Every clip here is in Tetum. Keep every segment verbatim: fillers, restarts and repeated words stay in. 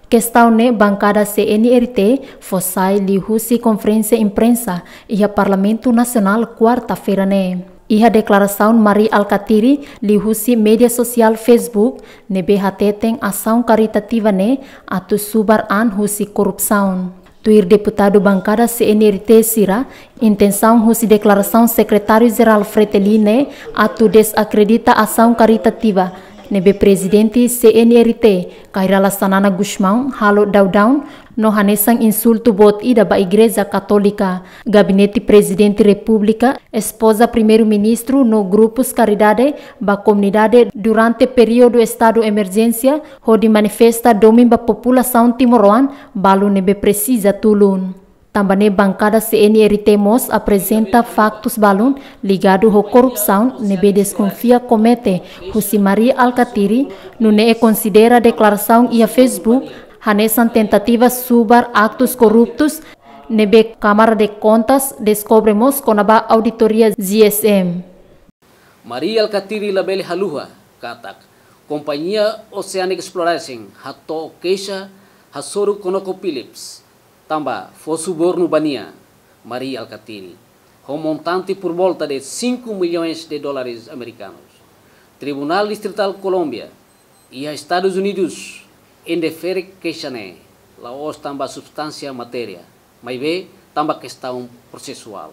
Kestaun ne'e bankada C N R T fó sai liuhusi konferénsia imprensa iha Parlamentu Nasionál kuarta-feira ne'e. Iha deklarasaun Mari Alkatiri liuhusi média sosiál Facebook ne'ebé hateten asaun karitativa ne'e atu subar an husi korrupsaun. Tuir deputadu bankada C N R T sira, intensaun husi deklarasaun Sekretáriu Jerál Fretilin ne'e atu dezakredita asaun karitativa ne'ebé Prezidente C N R T, Kay Rala Xanana Gusmão, halo daudaun no hanesan insultu boot ida ba Igreja Katólika, Gabinete Prezidente Repúblika, espoza Primeiru-Ministru no grupus karidade ba komunidade durante períodu estadu emerjénsia, hodi manifesta domin ba populasaun timoroan balu ne'ebé presiza tulun. Tanba ne'e bankada C N R T mós aprezenta faktus balun ligadu ho korrupsaun ne'ebé deskonfia komete husi Mari Alkatiri, nune'e konsidera deklarasaun iha Facebook hanesan tentativa subar aktus korruptus ne'ebé Kámara de Kontas deskobre mós kona-ba auditoria G S M. Mari Alkatiri labele haluha katak Kompañia Oceanic Exploration hato'o keixa hasoru ConocoPhillips tanba fó subornu ba nia, Mari Alkatiri, ho montante por volta de cinco milhões de dólares americanos. Tribunál Distritál Kolómbia iha Estadus Unidus indefere keixa ne'e, la'ós tanba substánsia matéria, maibé tanba kestaun prosesuál.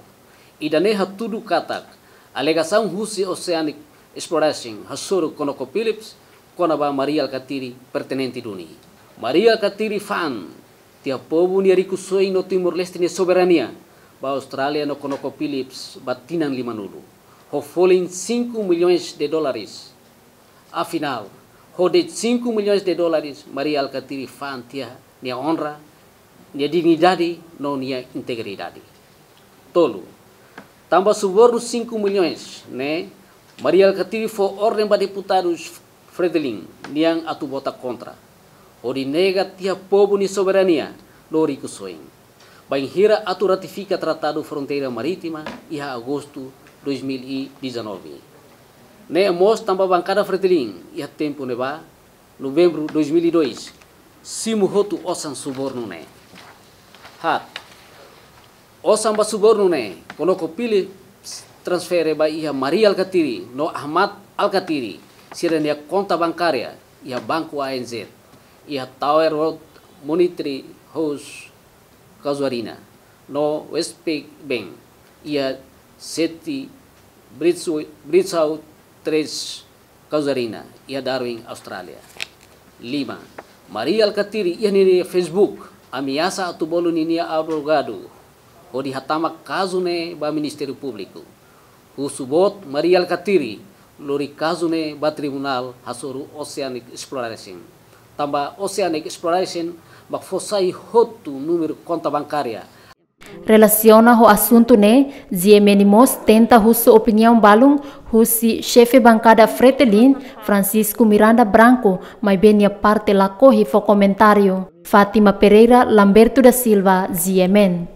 Ida-ne'e hatudu katak alegasaun husi Oceanic Exploration hasoru ConocoPhillips kona-ba Mari Alkatiri pertinente duni. Mari Alkatiri fa'an tiha povu nia rikusoin no Timor-Leste nia soberania ba Austrália no ConocoPhillips ba tinan limanulu, ho folin cinco milhões de dólares. Afinál, ho de'it cinco milhões de dólares, Mari Alkatiri fa'an tiha nia onra, nia dignidade no nia integridade. Tolu, tanba subornu cinco milhões ne'e, Mari Alkatiri fó orden ba deputadus Fretilin nian atu vota kontra, hodi nega tiha povu nia soberania no rikusoin, bainhira atu ratifika Tratadu Fronteira Marítima iha Agostu dois mil e dezanove. Ne'e mós tanba bankada Fretilin iha tempu ne'ebá, Novembru dois mil e dois, simu hotu osan subornu ne'e. Haat, osan ba subornu ne'e ConocoPhillips transfere ba iha Mari Alkatiri no Ahmad Alkatiri sira-nia konta bankária iha Banku A N Z, iha Tower Road Monetary House Casuarina, no Westpac Bank iha City Bridge, Bridgewater Terrace Casuarina, iha Darwin, Austrália. Lima, Mari Alkatiri iha ninia Facebook ameasa atu bolu ninia advogadu hodi hatama kazu ne'e ba Ministériu Públiku, husu boot Mari Alkatiri lori kazu ne'e ba tribunál hasoru Oceanic Exploration, tanba Oceanic Exploration mak fó sai hotu númeru konta bankária. Relasiona ho asuntu ne'e, G M N mós tenta husu opiniaun balun husi xefe bankada Fretilin, Francisco Miranda Branco, maibé nia parte lakohi fó komentáriu. Fátima Pereira, Lamberto da Silva, G M N.